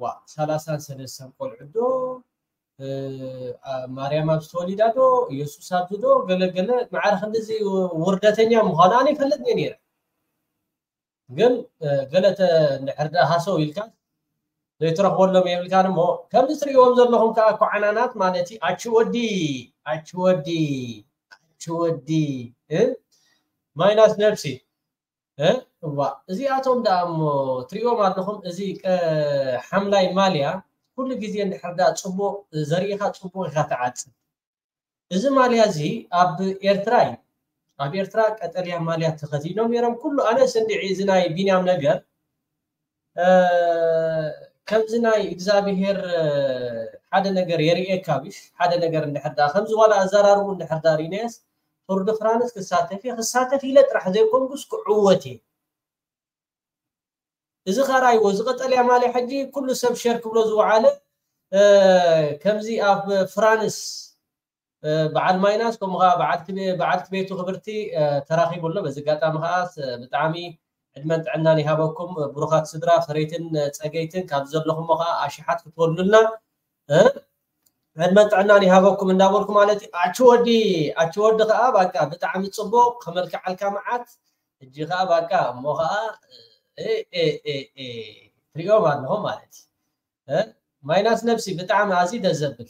ዋ ሰላሳን ሰለስተን ቆልዑ ዶ ማርያም ኣብዚ ተወሊዳ ዶ ኢየሱስ ኣብዚ ዶ ገለገለ ማዕረ ክንድዚ ውርደተኛ ምዃኑ ኣነ ይፈልጥ እየ ነይረ። ግን ገለ እንድሕር ደኣ ሃሰው ኢልካ ዘይትረኽበሎም የብልካን እሞ ከምዚ ትርእይዎም ዘለኹም ከዓ ኮዓናናት ማለት እዩ። ኣቺ ወዲ ኣቺ ወዲ ኣቺ ወዲ ማይናስ ነብሲ እዋ እዚኣቶም ደኣ እሞ ትርእይዎም ኣለኹም። እዚ ሓምላይ ማልያ ኩሉ ግዜ እንድሕር ደኣ ፅቡቕ ዘርእኻ ፅቡቕ ኢኻ ትዓፅድ። እዚ ማልያ እዚ ኣብ ኤርትራ እዩ። ኣብ ኤርትራ ቀጠልያ ማልያ ተኸዲኖም ነይሮም። ኩሉ ኣነስ እንድዒ እዚ ናይ ቢንያም ነገር ከምዚ ናይ እግዚኣብሄር ሓደ ነገር የርእየካ ብሽ ሓደ ነገር እንድሕር ዳ ከምዚ ዋላ ኣዘራርቡ እንድሕር ዳ ርኢናየስ ቱር ድ ፍራንስ ክሳተፍ እየ ክሳተፍ ኢለ ጥራሕ ዘይኮንኩስ ክዕወት እየ። እዚ ኸራይዎ እዚ ቀጠልያ ማልያ ሕጂ ኩሉ ሰብ ሸር ክብሎ ዝወዓለ ከምዚ ኣብ ፍራንስ በዓል ማይናስ ከምኡ ከዓ በዓልቲ ቤቱ ክብርቲ ተራኺቡ ኣሎ። በዚ ኣጋጣሚ ከዓ ብጣዕሚ ዕድመን ጥዕናን ይሃበኩም ብሩኻት ስድራ ፈረይትን ፀገይትን ካብ ዘለኹሞ ከዓ ኣሽሓት ክትወልዱልና ዕድመን ጥዕናን ይሃበኩም እንዳበልኩ ማለት እዩ። ኣቺ ወዲ ኣቺ ወዲ ከዓ ባቃ ብጣዕሚ ፅቡቅ ከመልክዓልካ መዓት ሕጂ ከዓ ባቃ እሞ ከዓ ትሪኦም ኣለኹም ማለት እዩ። ማይናስ ነብሲ ብጣዕሚ ኣዝዩ ደስ ዘብል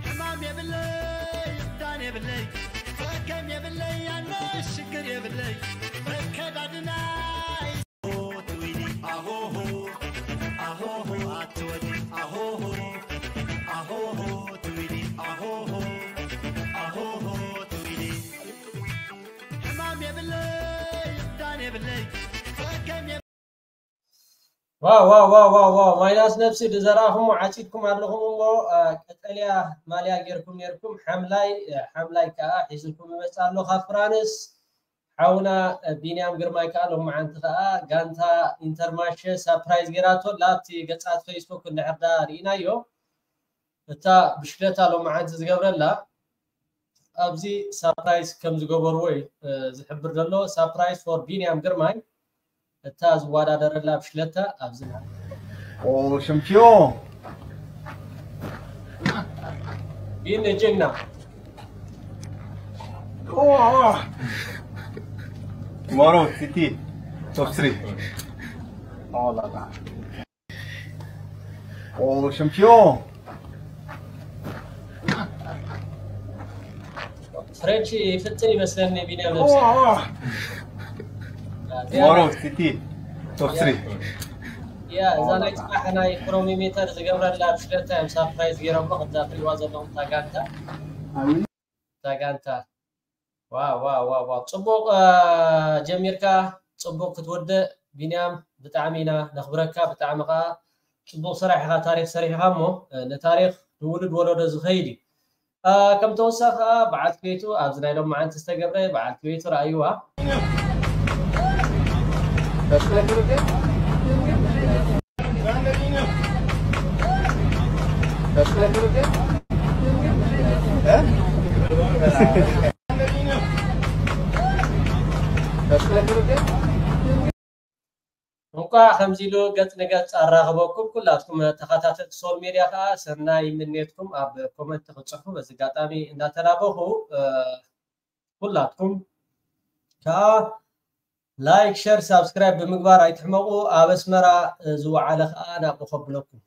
ሕማም የብለይ እብዳን የብለይ ፈከም የብለይ ኣነ ሽግር የብለይ መከዳድና ዋው ዋው ዋው ዋው ዋው ማይናስ ነብሲ ዝዘራእኹሞ ዓፂድኩም ኣለኹም እሞ ቀጠልያ ማልያ ጌርኩም ኔርኩም ሓምላይ ሓምላይ ከዓ ሒዝልኩም ይመፅእ ኣሎ ካብ ፍራንስ ሓውና ቢንያም ግርማይ ከዓ ሎማዓንቲ ከዓ ጋንታ ኢንተርማሸ ሳፕራይዝ ጌራቶ ላብቲ ገፃት ፌስቡክ እንድሕር ዳ ርኢናዮ እታ ብሽክለታ ሎማዓንቲ ዝገብረላ ኣብዚ ሳፕራይዝ ከም ዝገበርዎ እዩ ዝሕብር ዘሎ ሳፕራይዝ ፎር ቢንያም ግርማይ እታ ዝወዳደረላ ብሽክለታ ኣብዚ Ô, champion! ቢኒ ጅግና Oh! Tomorrow, City, top three. Oh là là. Ô, champion! ፍሬንች ይፍትን ይመስለኒ ቢንያም ነብሲ Oh! Tomorrow, City, top three. ያ እዛ ናይ ፅባሕ ናይ ፕሮሚሜተር ዝገብረላ ብሽለታ እዮም ሳፕራይዝ ገይሮሞ ከምዛ ትሪዋ ዘለኹም ታጋንታ Ah oui? ታጋንታ ዋው ዋው ዋው ዋው ፅቡቅ ጀሚርካ ፅቡቅ ክትወድእ ቢንያም ብጣዕሚ ኢና ነኽብረካ ብጣዕሚ ከዓ ፅቡቅ ስራሕ ኢኻ ታሪክ ሰሪሕኻ እሞ ንታሪክ ንውሉድ ወለዶ ዝኸይድ እዩ ከም ተወሳኺ ከዓ በዓልቲ ቤቱ ኣብዚ ናይ ሎም መዓልቲ ዝተገብረ በዓልቲ ቤቱ ረኣይዋ እንኳዕ ከምዚ ኢሉ ገፅ ንገፅ ኣራኽበኩም ኩላትኩም ተኸታተልቲ ሶል ሜድያ ከዓ ሰናይ ምኔትኩም ኣብ ኮመንት ክፅሕፉ በዚ ኣጋጣሚ እንዳተላበኹ ኩላትኩም ከዓ ላይክ ሸር ሳብስክራይብ ብምግባር ኣይትሕመቁ ኣብ ኣስመራ ዝወዓለ ከዓ ናብኡ ከብለኩም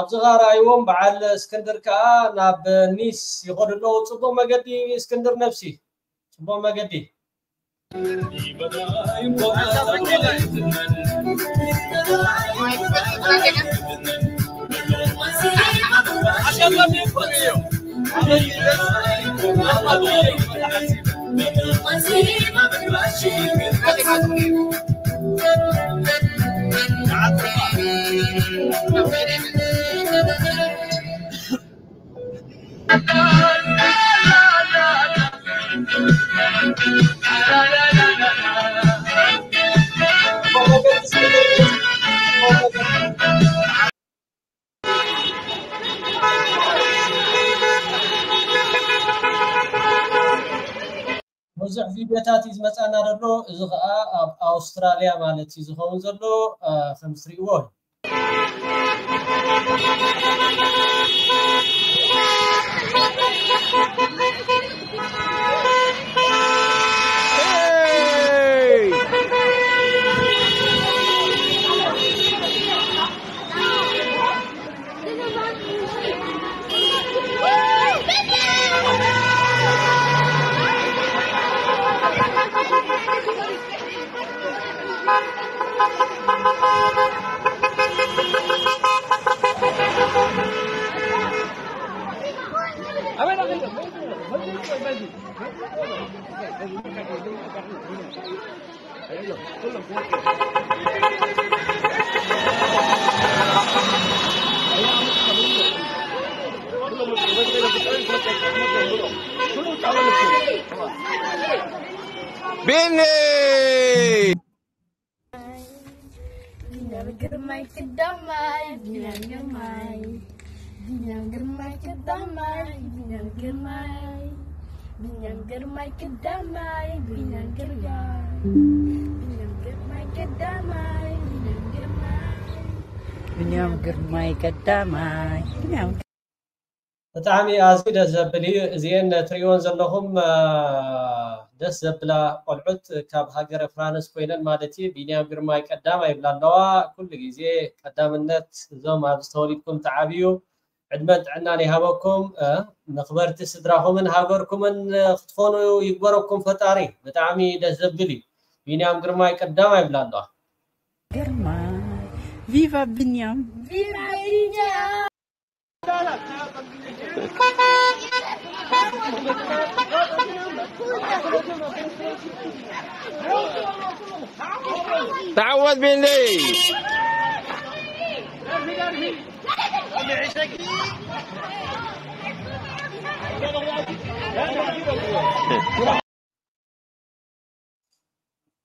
ኣብዚ ኸኣ ረኣይዎም፣ በዓል እስክንድር ከኣ ናብ ኒስ ይኸዱ ኣለዉ። ጽቡቕ መገዲ እስክንድር ነብሲ፣ ጽቡቕ መገዲ። ብዙሕ ቪድዮታት እዩ ዝመጻና ዘሎ። እዚ ኸኣ ኣብ ኣውስትራልያ ማለት እዩ ዝኸውን ዘሎ፣ እ፣ ከም ትሪእዎ እዩ። ቢኒ! ቢንያም ግርማይ ቀዳማይ፣ ቢንያም ግርማይ፣ ቢንያም ግርማይ ቀዳማይ፣ ቢንያም ግርማይ፣ ቢንያም ግርማይ ቀዳማይ፣ ቢንያም ግርማይ፣ ቢንያም ግርማይ ቀዳማይ፣ ቢንያም ግርማይ፣ ቢንያም ግርማይ ቀዳማይ፣ ቢንያም ብጣዕሚ ኣዝዩ ደስ ዘብል እዩ። እዚኤን ትሪእወን ዘለኹም፣ አ፣ ደስ ዘብላ ቆልዑት ካብ ሃገረ ፍራንስ ኮይነን ማለት እዩ። ቢንያም ግርማይ ቀዳማይ ይብላ ኣለዋ። ኩሉ ግዜ ቀዳምነት እዞም ኣብዚ ተወሊድኩም ትዓብዩ ዕድመን ጥዕናን ይሃበኩም። አ፣ መኽበርቲ ስድራኹምን ሃገርኩምን ክትኾኑ ይግበረኩም ፈጣሪ። ብጣዕሚ ደስ ዘብል እዩ። ቢንያም ግርማይ ቀዳማይ ይብላ ኣለዋ። ግርማይ፣ ቪቫ ቢንያም። ቪቫ ቢንያም። تعوذ بالله.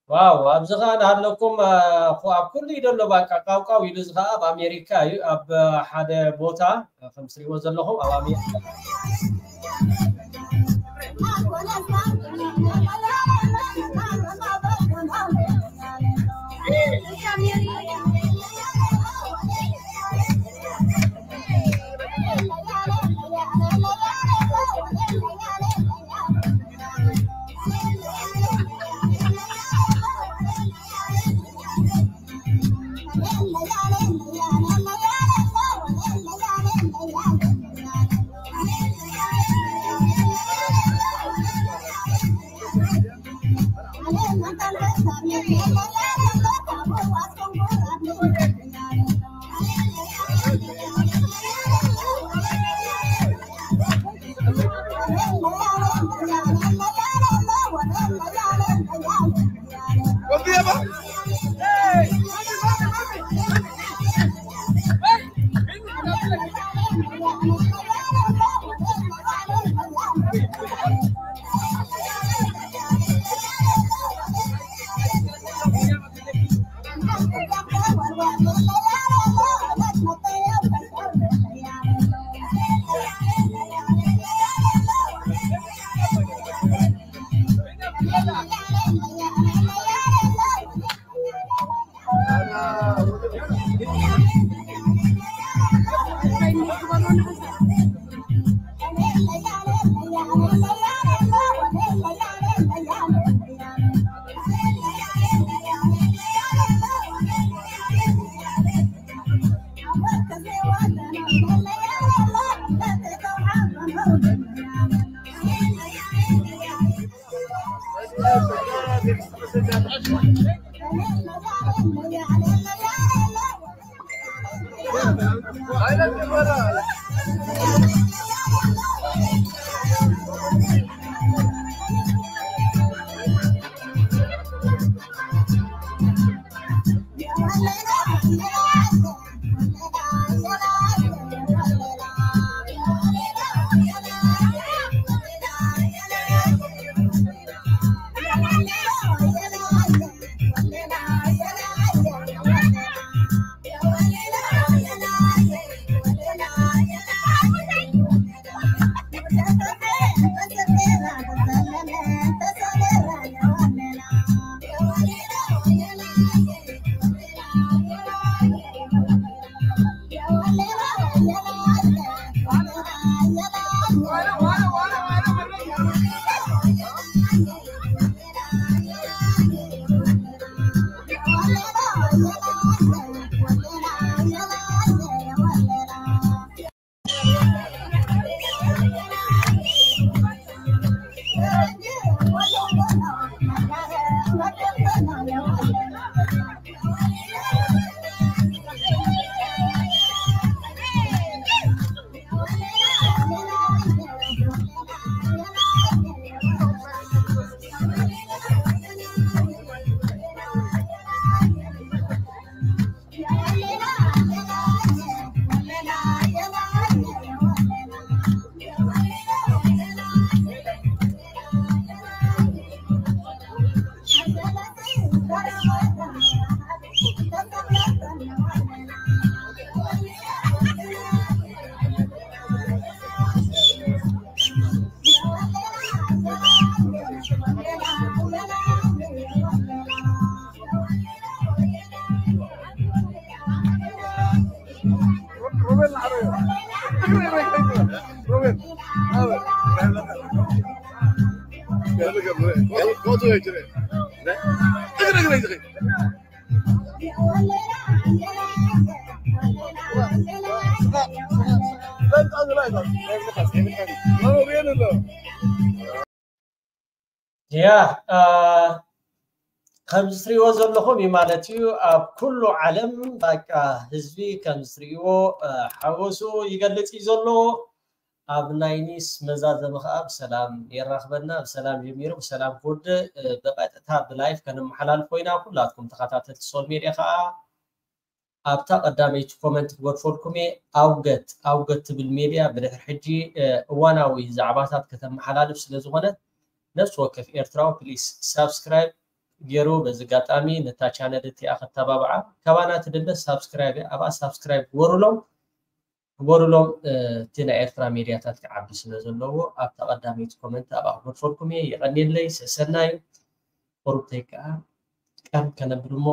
ዋው፣ ኣብዚ ኸኣ እናሃለኩም፣ እ፣ ኹ-፣ ኣብ ኩሉ እዩ ዘሎ፣ በቃ፣ ቃውቃው ኢሉ። እዚ ኸኣ ኣብ ኣሜሪካ እዩ፣ ኣብ ሓደ ቦታ፣ እ፣ ከም ትሪእዎ ዘለኹም ኣብ ኣሜሪካ። ያ ከምዚ ትሪእዎ ዘለኹም እዩ ማለት እዩ። ኣብ ኩሉ ዓለም በቃ ህዝቢ ከምዚ ትሪእዎ ሓጎሱ ይገልጽ እዩ ዘሎ። ኣብ ናይ ኒስ መዛዘሚ ከዓ ብሰላም የራኽበና፣ ብሰላም ጀሚሩ ብሰላም ክውድእ ብቐጥታ ብላይፍ ከነመሓላልፎ ኢና። ኩላትኩም ተኸታተልቲ ሶል ሜድያ ከዓ ኣብታ ቀዳመይቲ ኮመንት ክገድፈልኩም እየ። ኣውገት ኣውገት ትብል ሜድያ ብድሕሪ ሕጂ እዋናዊ ዛዕባታት ከተመሓላልፍ ስለ ዝኾነት ነፍሲ ወከፍ ኤርትራዊ ፕሊስ ሳብስክራይብ ገይሩ በዚ ኣጋጣሚ ነታ ቻነል እቲኣ ከተባብዓ። ካባና ትድለ ሳብስክራይብ እያ። ኣብኣ ሳብስክራይብ ግበሩሎም፣ ግበሩሎም። እቲ ናይ ኤርትራ ሜድያታት ክዓቢ ስለ ዘለዎ ኣብታ ቀዳመይቲ ኮመንት ኣብኣ ክገድፈልኩም እየ። የቐንየለይ። ሰሰናዩ ቁሩብተይ ከዓ ቀን ከነብል እሞ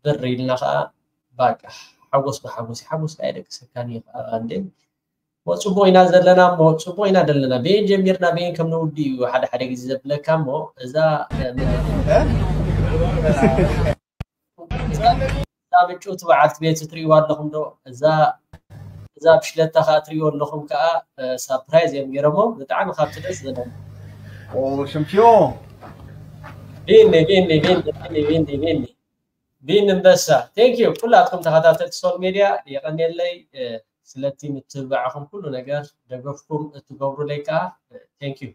ብር ኢልና ከዓ ባቃ ሓጎስ ብሓጎስ ሓጎስ ከዓ የደቅሰካን እዩ ከዓ እንዴ። እሞ ፅቡቅ ኢና ዘለና እሞ ፅቡቅ ኢና ዘለና። በየን ጀሚርና በየን ከም ንውዲ እዩ ሓደ ሓደ ግዜ ዘብለካ እሞ እዛ እዛ ምጭውቲ በዓልቲ ቤት ትሪእዋ ኣለኹም ዶ? እዛ እዛ ብሽለታ ከዓ ትሪእዎ ኣለኹም ከዓ ሳፕራይዝ እዮም ገይሮሞ ብጣዕሚ ካብቲ ደስ ዝብለኒ። Oh, champion! ቢኒ ቢኒ ቢኒ ቢኒ ቢኒ ቢኒ ቢኒ እምበሳ thank you ኩላትኩም ተኸታተልቲ ሶል ሜድያ የቐንየለይ። ስለቲ ምትብባዕኹም ኩሉ ነገር ደገፍኩም እትገብሩለይ ከዓ thank you።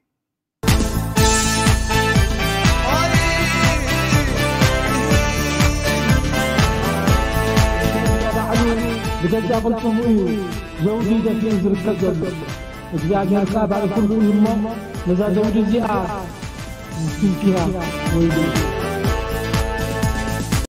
ባዕሉ ብገዛ ቅልጽሙ እዩ ዘውዲ ደፊኡ ዝርከብ ዘሎ። እግዚኣብሔር ከኣ ባዕሉ ፍርዱ እዩ እሞ ነዛ ዘውዲ እዚኣ ዝትንክያ ወይሉ።